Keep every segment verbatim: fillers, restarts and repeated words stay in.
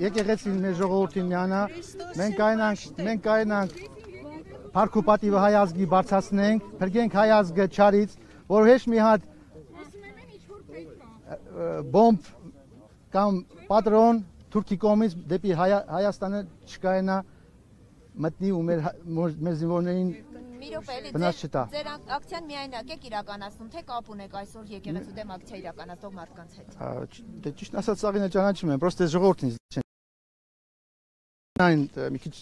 Եկեղեցին մեր ժողովրդին միանա, մենք կայնանք, մենք կայնանք Փառք ու պատիվը հայ ազգի բարձրացնենք, փրկենք հայ ազգը չարից, որ հեչ մի հատ բոմբ կամ պատրոն Թուրքի կողմից դեպի Հայաստանը չկայանա մտնի ու մեր մեր զինվորներին վնաս չտա։ Ձեր ակցիան միայնակ եք իրականացնում, թե կապ ունեք այսօր եկեղեցու դեմ ակցիա իրականացնող մարդկանց հետ։ Դե ճիշտ ասած սաղինը ճանաչում եմ, պրոստե ժողովրդին չեն։ Այն մի քիչ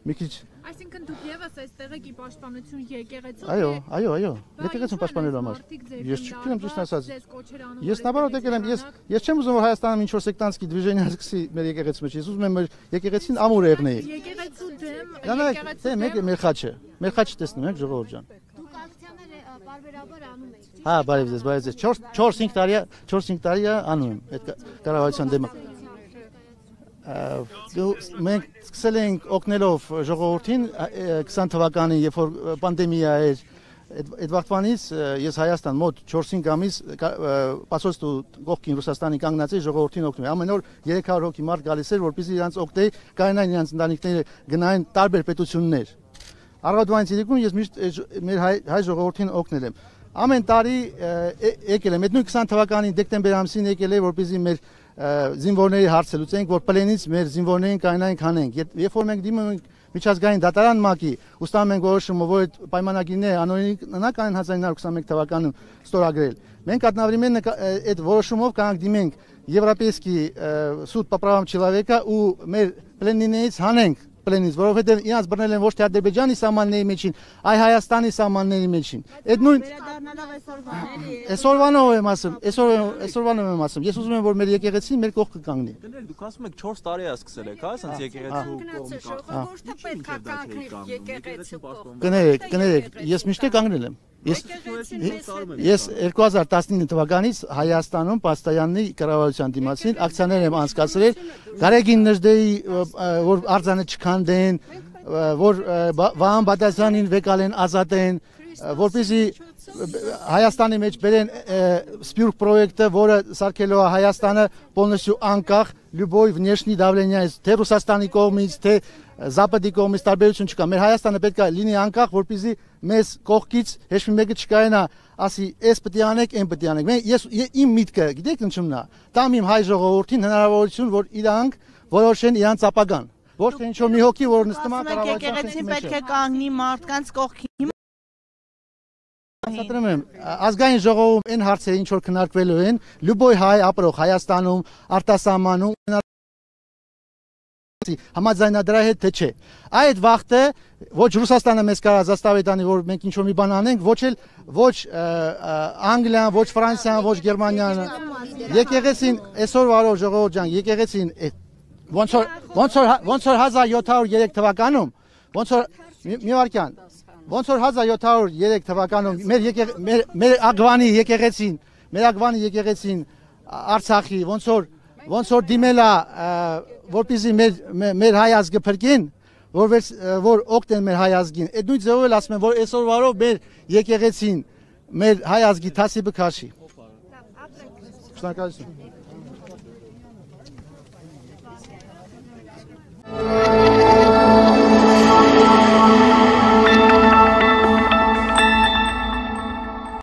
մի քիչ Այսինքն դուք եւս այստեղ եք ի պաշտպանություն եկեղեցու։ Այո, այո, այո, եկեղեցուն պաշտպանելու համար։ Ես չգիտեմ ճիշտ ասած։ Ես նավարոտ եկել եմ, ես ես չեմ ուզում որ Հայաստանում ինչ որ սեկտանտսկի դվիժենիա սկսի մեր եկեղեցու մեջ։ Ես ուզում եմ մեր եկեղեցին ամուր եղնեի։ Եկեղեցու դեմ, եկեղեցու դեմ, մեկ մեր խաչը, մեր խաչը տեսնում եք ժողովուրդ ջան։ Դուք ակցիաները բարբերաբար անում եք։ Հա, բարև ձեզ, բարև ձեզ։ չորս-հինգ տարի, չորս-հինգ տարի անում եմ այդ կառավարության դեմ։ Մենք սկսել ենք օգնելով ժողովրդին քսան թվականին, երբ որ պանդեմիա էր, այդ վաղտվանից ես Հայաստան մոտ չորս-հինգ ամիս պասոստու կողքին Ռուսաստանի կանգնած էի ժողովրդին օգնում։ Ամեն օր երեք հարյուր հոգի մարդ գալիս էր, որպեսզի իրանց օգնեի, կայանային իրանց ընտանիքները գնային տարբեր պետություններ։ Առավոտվանից իրիկուն ես միշտ մեր հայ ժողովրդին օգնել եմ։ Ամեն տարի եկել եմ, այդ նույն քսան թվականի դեկտեմբեր ամսին եկել եմ, որպեսզի մեր զինվորների հարցը լուծենք, որ պլենից մեր զինվորներին կայանային քանենք։ Երբ որ մենք դիմում ենք միջազգային դատարան ՄԱԿ-ի, ուստանում ենք որոշումը, որ այդ պայմանագիրները անօրինակ են հազար ինը հարյուր քսանմեկ թվականին ստորագրել։ Մենք одновременно այդ որոշումով կանք դիմենք Եվրոպեյский суд по правам человека ու մեր պլենիներից հանենք պլենից, որովհետև իրանց բռնել են ոչ թե Ադրբեջանի սահմանների մեջին, այլ Հայաստանի սահմանների մեջին։ Այդ նույն Այսօրվանով եմ ասում, այսօրվանով եմ ասում։ Ես ուզում եմ որ մեր եկեղեցին մեր կողքը կանգնի։ Կներեք, դուք ասում եք չորս տարի է սկսել եք, հա, ասենց եկեղեցու կողմից։ Կներեք, կներեք, ես միշտ կանգնել եմ։ Ես ես երկու հազար տասնինը թվականից Հայաստանում Պաստայաննի կառավարության դիմացին ակցիաներ եմ անցկացրել Գարեգին Նժդեի որ արձանը չքանդեն, որ Վահան Բադասյանին վեկալեն ազատեն, որպեսզի Հայաստանի մեջ բերեն Սպյուրք պրոյեկտը, որը սարքելու է Հայաստանը полностью անկախ любой внешней давления, թե Ռուսաստանի կողմից, թե Զապադի կողմից տարբերություն չկա։ Մեր Հայաստանը պետք է լինի անկախ, որպեսզի մեզ կողքից ոչ մի մեկը չկայանա, ասի, «Էս պետք է անեք, այն պետք է անեք»։ Ես իմ միտքը, գիտեք ինչումն է, տամ իմ հայ ժողովրդին հնարավորություն, որ իրանք որոշեն իրանց ապագան։ Ոչ թե ինչ-որ մի հոգի, որ նստում է կառավարության եկեղեցին պետք է կանգնի մարդկանց կողքին։ Ասատրում եմ, ազգային ժողովում այն հարցերը ինչ որ քննարկվելու են, լյուբոյ հայ ապրող Հայաստանում, արտասահմանում համաձայնադրա հետ թե չէ։ Այդ վաղտը ոչ Ռուսաստանը մեզ կարա զաստավի տանի, որ մենք ինչ-որ մի բան անենք, ոչ էլ ոչ Անգլիան, ոչ Ֆրանսիան, ոչ Գերմանիան։ Եկեղեցին այսօր վարող ժողովուրդ ջան, եկեղեցին ոնց որ ոնց որ ոնց որ հազար յոթ հարյուր երեք թվականում, ոնց որ մի վարքյան, ոնց որ հազար յոթ հարյուր երեք թվականում մեր մեր մեր ագվանի եկեղեցին, մեր ագվանի եկեղեցին Արցախի ոնց որ ոնց որ դիմելա որպեսզի մեր մեր հայ ազգը փրկեն, որ որ օգնեն մեր հայ ազգին։ Այդ նույն ձևով էլ ասում եմ, որ այսօր վարով մեր եկեղեցին մեր հայ ազգի թասիբը քաշի։ Շնորհակալություն։